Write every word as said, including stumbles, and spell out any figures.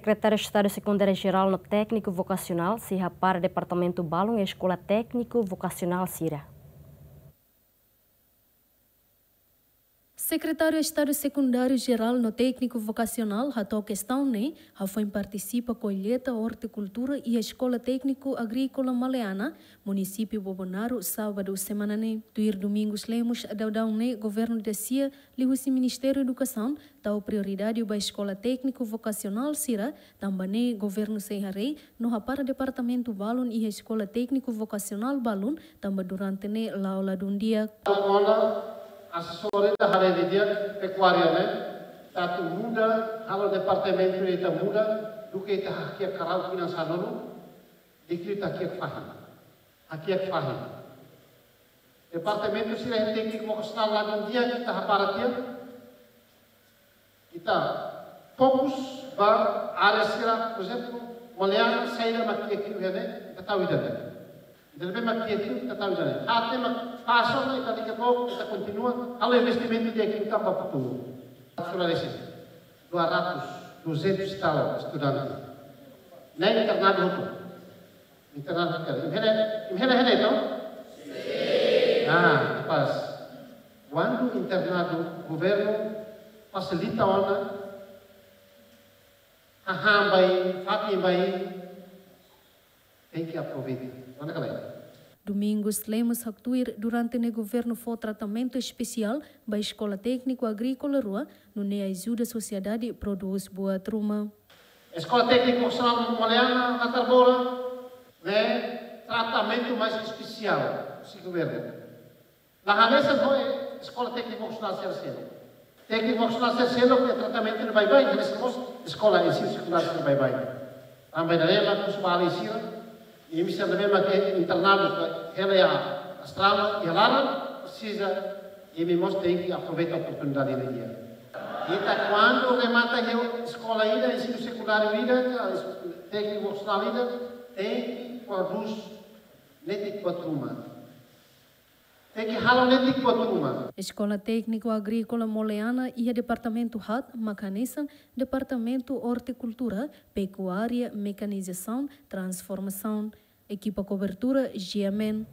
Sekretáriu Estadu Sekundáriu Jerál no Tékniku Vokasionál sei hapara departamentu balun iha eskola tékniku vokasionál sira. Sekretáriu Estadu Sekundáriu Jerál no Tékniku Vokasionál hato'o kestaun ne'e hafoin partisipa kolleita ortikultura iha Eskola Tékniku Agríkola Maleana, munisípiu Bobonaro, sábadu semana ne'e. Tuir Domingos Lemos, daudaun ne'e governu dasia liuhusi Ministériu Edukasaun tau prioridade ba eskola tékniku vokasionál sira, tanba ne'e governu sei haree no hapara departamentu balun iha eskola tékniku vokasionál balun, tanba durante ne'e la'o ladún di'ak. Ona asesór ida haree didi'ak pekuária ne'e, atu muda, halo departamentu ita muda, duké ita hakiak karau tinan sanulu, di'ak liu ita hakiak fahi. Hakiak fahi. Departamentu sira tékniku vokasionál ladún di'ak ita hapara tiha. Ita fokus ba área sira, por ezemplu, Maleana saida mak kiak liu iha ne'e, ita tau ida-ne'e. Ida ne'ebé mak kiak liu, ita tau ida-ne'e. Até mak fason ita liga bok, ita kontinua, halo investimentu di'ak liu tanba futuru. Sura desi, dua ratus, duzentos e tal estudante. Ne'e internadu hotu. Internadu hotu. Imi haree, imi haree, haree, to'o? Ah, pas. Kuandu internadu, governu fasilita ona, hahán ba imi, fatin ba imi, tenke aproveita. Ona kala. Domingos Lemos haktuir durante ne'e governu fó tratamentu espesiál ba Eskola Tékniku Agríkola rua, nune'e ajuda sosiedade prodús buat ruma. Eskola Tékniku Vokasionál Maleana, Natar Bola, ne'e tratamentu mais espesiál husi governu. La hanesan ho Eskola Tékniku Vokasionál sira seluk. Tékniku Vokasionál sira seluk ne'e tratamentu ne'e baibain, hanesan mós eskola ensinu sekundáriu sira baibain. Tanba ida-ne'e mak husu ba alin sira, imi sira ne'ebé mak internadu hela iha Austrália, iha laran, presiza, imi mós tenke aproveita oportunidade ne'e di'ak. Ita kuandu remata iha eskola ida, ensinu sekundáriu ida, ka tékniku vokasionál ida, tenke prodús netik buat ruma. Tenke halo netik buat ruma. Eskola Tékniku Agríkola Maleana iha departamentu haat mak hanesan departamentu ortikultura, pekuária, mekanizasaun, transformasaun. Ekipa kobertura, G M N.